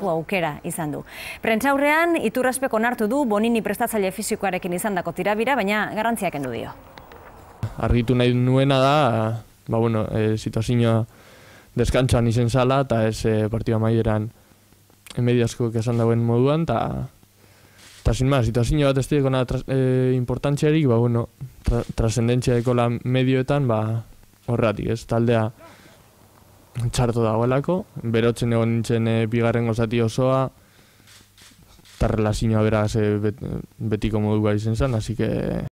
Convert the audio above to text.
aukera izan du. Prentsaurrean, Iturraspek onartu du Bonini prestatzaile fisikoarekin izandako tirabira, baina garrantziak kendu dio. Argitu nahi nuena da, situazioa deskantxoan izen zala, eta ez partida maieran mediaskok esan dauen moduan, eta sin más, situazio bat ez dira importantziarik, trascendentzia dekola medioetan, horretik, ez, taldea txarto dagoelako, berotzen egon nintzen bigarren zati osoa, eta relazioa beraz betiko modua izen zen, así que